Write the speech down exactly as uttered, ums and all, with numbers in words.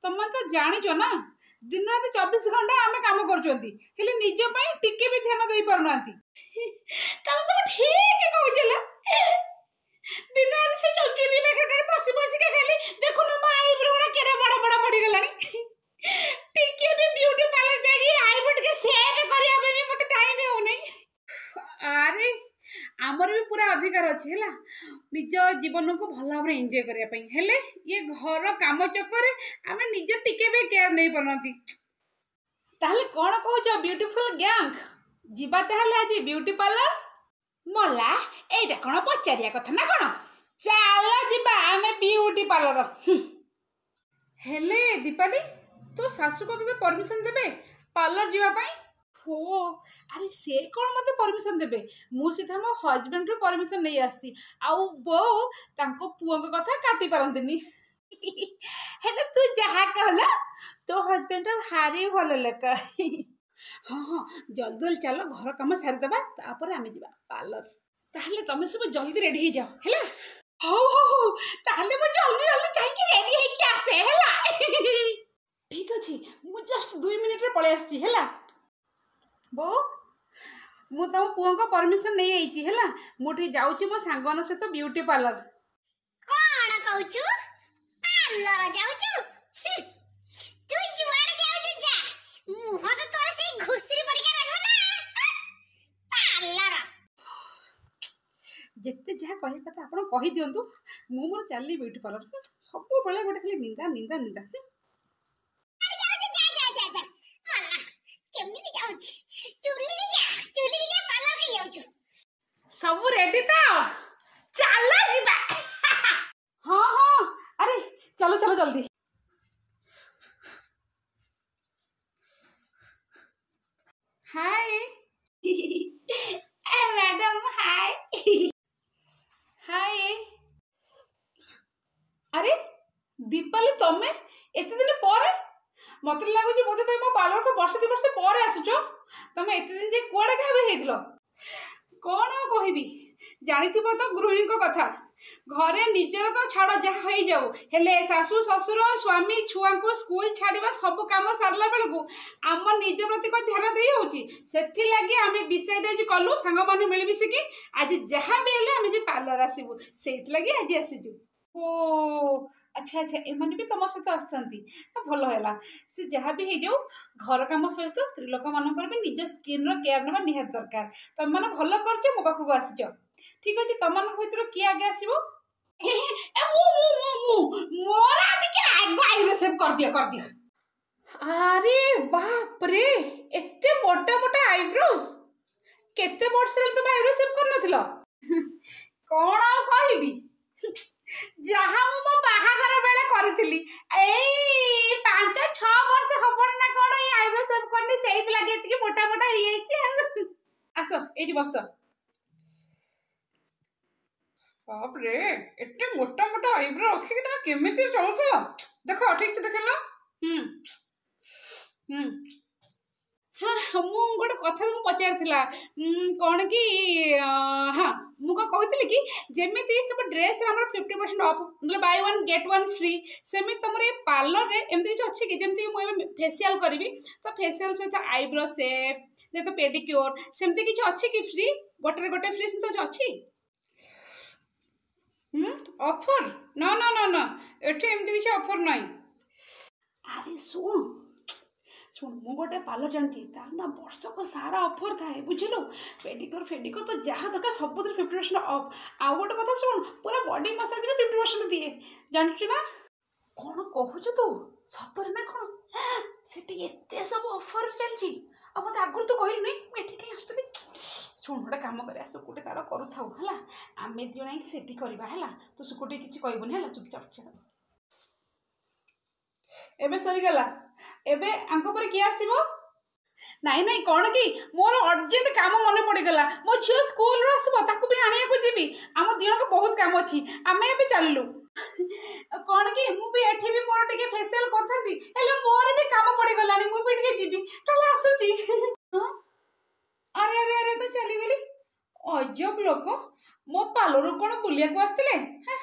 ତମେ ତ ଜାଣିଛ ନା ଦିନ ରାତି ଚବିଶ ଘଣ୍ଟା ଆମେ କାମ କରୁଛନ୍ତି ହେଲେ ନିଜ ପାଇଁ ଟିକେ ବି ଧ୍ୟାନ ଦେଇପାରୁନାହାନ୍ତି ତମେ ସବୁ ଠିକ କହୁଛ ଲୋ। ଦିନ ରାତି ସେ ଚୁଲି ପାଖରେ ବସି ବସିକା ଖାଲି ଦେଖୁନ ମୋ ଆଇବ୍ରୋ ଗୁଡ଼ା କେଡ଼େ ବଡ଼ ବଡ଼ ପଡ଼ିଗଲାଣି ଟିକେ ବି ବିୟୁଟି ପାର୍ଲର ଯାଇକି ଆଇବ୍ରୋ ଟିକେ ସେଭ୍ କରିବା ପାଇଁ ବି ମତେ ଟାଇମ୍ ହେଉନାହିଁ ଆରେ ଆମର ବି ପୁରା ଅଧିକାର ଅଛି ହେଲା ନିଜ ଜୀବନକୁ ଭଲ ଭାବରେ ଏନ୍ଜୟ କରିବା ପାଇଁ ହେଲେ ଇଏ ଘର କାମ ଚକରେ ଆମେ ନିଜ ଟିକେ ବି କେୟାର ନେଇପାରୁନାହାନ୍ତି ତାହେଲେ କ'ଣ କହୁଛ ବ୍ୟୁଟିଫୁଲ ଗ୍ୟାଙ୍ଗ ଯିବା ତାହେଲେ ଆଜି ବିୟୁଟି ପାର୍ଲର ମଲା ଏଇଟା କ'ଣ ପଚାରିବା କଥା ନା କ'ଣ ଚାଲ ଯିବା ଆମେ ବିୟୁଟି ପାର୍ଲର ହେଲେ ଦୀପାଲି ତୋ ଶାଶୁ କ'ଣ ତୋତେ ପରମିସନ ଦେବେ ପାର୍ଲର ଯିବା ପାଇଁ ଓ ଆରେ ସେ କ'ଣ ମୋତେ ପରମିସନ ଦେବେ ମୁଁ ସିଧା ମୋ ହଜବେଣ୍ଡଠୁ ପରମିସନ ନେଇ ଆସିଛି ଆଉ ବୋଉ ତାଙ୍କ ପୁଅଙ୍କ କଥା କାଟି ପାରନ୍ତିନି ହେଲେ ତୁ ଯାହା କହିଲ ତୋ ହଜବେଣ୍ଡ ଭାରି ଭଲ ଲୋକ ହଁ ହଁ ଜଲ୍ଦି ଜଲ୍ଦି ଚାଲ ଘର କାମ ସାରିଦେବା ତାପରେ ଆମେ ଯିବା ପାର୍ଲର ତାହେଲେ ତମେ ସବୁ ଜଲ୍ଦି ରେଡି ହେଇଯାଅ ହେଲା ହଉ ହଉ ହଉ ତାହେଲେ ମୁଁ ଜଲ୍ଦି ଜଲ୍ଦି ଯାଇକି ରେଡି ହେଇକି ଆସେ ହେଲା ଠିକ ଅଛି ମୁଁ ଜଷ୍ଟ ଦୁଇ ମିନିଟରେ ପଳେଇ ଆସିଛି ହେଲା ବୋଉ ମୁଁ ତମ ପୁଅଙ୍କ ପରମିସନ ନେଇଯାଇଛି ହେଲା ମୁଁ ଟିକେ ଯାଉଛି ମୋ ସାଙ୍ଗମାନଙ୍କ ସହିତ ବିୟୁଟି ପାର୍ଲର କଣ କହୁଛୁ ପାର୍ଲର ଯାଉଛୁ ହୁଁ, ତୁ ଯୁଆଡେ ଯାଉଛୁ ଯା ମୁହଁ ତ ତୋର ସେଇ ଘୁଷୁରୀ ପରିକା ରହିବ ନା ପାର୍ଲର ଯେତେ ଯାହା କହିବା କଥା ଆପଣ କହିଦିଅନ୍ତୁ ମୁଁ ମୋର ଚାଲିଲି ବିୟୁଟି ପାର୍ଲର ସବୁବେଳେ ଗୋଟେ ଖାଲି ନିନ୍ଦା ନିନ୍ଦା ନିନ୍ଦା ଯାଉଛୁ ଯା ଯା ଯା ଯା ମଲା କେମିତି ଯାଉଛି ଚୁଲିକି ଯା ଚୁଲିକି ଯା ପାର୍ଲର କି ଯାଉଛୁ ସବୁ ରେଡି ତ ଚାଲ ଯିବା ହଁ ହଁ ଆରେ ଚାଲ ଚାଲ ଜଲ୍ଦି ହାଏ ମ୍ୟାଡାମ ହାଏ ହାଏ ଆରେ ଦୀପାଲି ତମେ ଏତେ ଦିନ ପରେ ମତେ ଲାଗୁଛି ବୋଧେ ତମେ ମୋ ପାର୍ଲରକୁ ବର୍ଷେ ଦି ବର୍ଷ ପରେ ଆସୁଛ ତମେ ଏତେ ଦିନ ଯାଏ କୁଆଡ଼େ ଗାୟବ ହେଇଥିଲ କ'ଣ ଆଉ କହିବି ଜାଣିଥିବ ତ ଗୃହିଣୀଙ୍କ କଥା ଘରେ ନିଜର ତ ଛାଡ଼ ଯାହା ହେଇଯାଉ ହେଲେ ଶାଶୁ ଶ୍ୱଶୁର ସ୍ୱାମୀ ଛୁଆଙ୍କୁ ସ୍କୁଲ ଛାଡ଼ିବା ସବୁ କାମ ସାରିଲା ବେଳକୁ ଆମ ନିଜ ପ୍ରତି କ'ଣ ଧ୍ୟାନ ଦେଇ ହେଉଛି ସେଥିଲାଗି ଆମେ ଡିସାଇଡ୍ ଆଜି କଲୁ ସାଙ୍ଗମାନେ ମିଳିମିଶିକି ଆଜି ଯାହା ବି ହେଲେ ଆମେ ଯେ ପାର୍ଲର ଆସିବୁ ସେଇଥିଲାଗି ଆଜି ଆସିଛୁ ଓ ଆଚ୍ଛା ଆଚ୍ଛା ଏମାନେ ବି ତମ ସହିତ ଆସିଛନ୍ତି ଆ, ଭଲ ହେଲା ସେ ଯାହା ବି ହେଇଯାଉ ଘର କାମ ସହିତ ସ୍ତ୍ରୀ ଲୋକମାନଙ୍କର ବି ନିଜ ସ୍କିନ୍ର କେୟାର ନେବା ନିହାତି ଦରକାର ତମେମାନେ ଭଲ କରିଛ ମୋ ପାଖକୁ ଆସିଛ ଠିକ ଅଛି ତମମାନଙ୍କ ଭିତରୁ କିଏ ଆଗେ ଆସିବ ଏ, ମୁଁ ମୁଁ ମୁଁ ମୁଁ ମୋର ଟିକେ ଆଗ ଆଇବ୍ରୋ ସେଭ୍ କରିଦିଅ କରିଦିଅ ଆରେ ବାପରେ ଏତେ ମୋଟା ମୋଟା ଆଇବ୍ରୋ କେତେ ବର୍ଷ ହେଲା ତମେ ଆଇବ୍ରୋ ସେଭ୍ କରିନଥିଲ କ'ଣ ଆଉ କହିବି ଯାହା ମୁଁ ମୋ ବାହାଘର ବେଳେ କରିଥିଲି ଏଇ ପାଞ୍ଚ ଛଅ ବର୍ଷ ହବଣି ନା କ'ଣ ଏଇ ଆଇବ୍ରୋ ସେଭ୍ କରିନି ସେଇଥିଲାଗି ଏତିକି ମୋଟା ମୋଟା ହେଇଯାଇଛି ଆଉ ଆସ ଏଇଠି ବସ ବାପରେ ଏତେ ମୋଟା ମୋଟା ଆଇବ୍ରୋ ରଖିକି ତମେ କେମିତି ଚଳୁଛ ଦେଖ ଠିକ ସେ ଦେଖିଲ ହୁଁ ହୁଁ ହଁ ମୁଁ ଗୋଟେ କଥା ତମକୁ ପଚାରିଥିଲା ଉଁ, କ'ଣ କି ଅଁ, ହଁ ମୁଁ କ'ଣ କହୁଥିଲି କି ଯେମିତି ସବୁ ଡ୍ରେସ୍ରେ ଆମର ଫିଫ୍ଟି ପରସେଣ୍ଟ ଅଫ୍ ନହେଲେ buy one get one free ସେମିତି ତମର ଏ ପାର୍ଲରରେ ଏମିତି କିଛି ଅଛି କି ଯେମିତି ମୁଁ ଏବେ ଫେସିଆଲ୍ କରିବି ତ ଫେସିଆଲ୍ ସହିତ ଆଇବ୍ରୋ ସେପ୍ ଯେହେତୁ ପେଡିକ୍ୟୋର ସେମିତି କିଛି ଅଛି କି ଫ୍ରି ଗୋଟେରେ ଗୋଟେ ଫ୍ରି ସେମିତି କିଛି ଅଛି ହୁଁ ଅଫର୍ ନା ନା ନା ନା ଏଠି ଏମିତି କିଛି ଅଫର୍ ନାହିଁ ଆରେ ଶୁଣ ଶୁଣ ମୁଁ ଗୋଟେ ପାର୍ଲର ଜାଣିଛି ତାର ନା ବର୍ଷକ ସାରା ଅଫର୍ ଥାଏ ବୁଝିଲୁ ପେଡିକ୍ୟୋର ଫେଡିକ୍ୟୋର ତ ଯାହା ଦରକାର ସବୁଥିରେ ଫିଫ୍ଟି ପରସେଣ୍ଟ ଅଫ୍ ଆଉ ଗୋଟେ କଥା ଶୁଣ ପୁରା ବଡି ମସାଜ ବି ଫିଫ୍ଟି ପରସେଣ୍ଟ ଦିଏ ଜାଣିଛୁ ନା କ'ଣ କହୁଛୁ ତୁ ସତରେ ନା କ'ଣ ସେଠି ଏତେ ସବୁ ଅଫର୍ ଚାଲିଛି ଆଉ ମୋତେ ଆଗରୁ ତୁ କହିଲୁନି ମୁଁ ଏଠି କାହିଁ ଆସୁଥିଲି ଶୁଣ ଗୋଟେ କାମ କରିବା ସୁକୁଟି ତାର କରୁଥାଉ ହେଲା ଆମେ ଦୁଇ ଜଣ ଯାଇକି ସେଠି କରିବା ହେଲା ତୁ ସୁକୁଟି କିଛି କହିବୁନି ହେଲା ଚୁପଚାପ ଛାଡ଼ ଏବେ ସରିଗଲା ଏବେ ଆଙ୍କ ପରେ କିଏ ଆସିବ ନାଇଁ ନାଇଁ କ'ଣ କି ମୋର ଅର୍ଜେଣ୍ଟ କାମ ମନେ ପଡ଼ିଗଲା ମୋ ଝିଅ ସ୍କୁଲରୁ ଆସିବ ତାକୁ ବି ଆଣିବାକୁ ଯିବି ଆମ ଦୁଇ ଜଣଙ୍କ ବହୁତ କାମ ଅଛି ଆମେ ଏବେ ଚାଲିଲୁ କ'ଣ କି ମୁଁ ବି ଏଠି ବି ମୋର ଟିକେ ଫେସିଆଲ କରିଥାନ୍ତି ହେଲେ ମୋର ବି କାମ ପଡ଼ିଗଲାଣି ମୁଁ ବି ଟିକେ ଯିବି ତାହେଲେ ଆସୁଛି ହଁ ଆରେ ଆରେ ଆରେ ମୁଁ ଚାଲିଗଲି ଅଜବ ଲୋକ ମୋ ପାର୍ଲରରୁ କ'ଣ ବୁଲିବାକୁ ଆସିଥିଲେ ହେଁ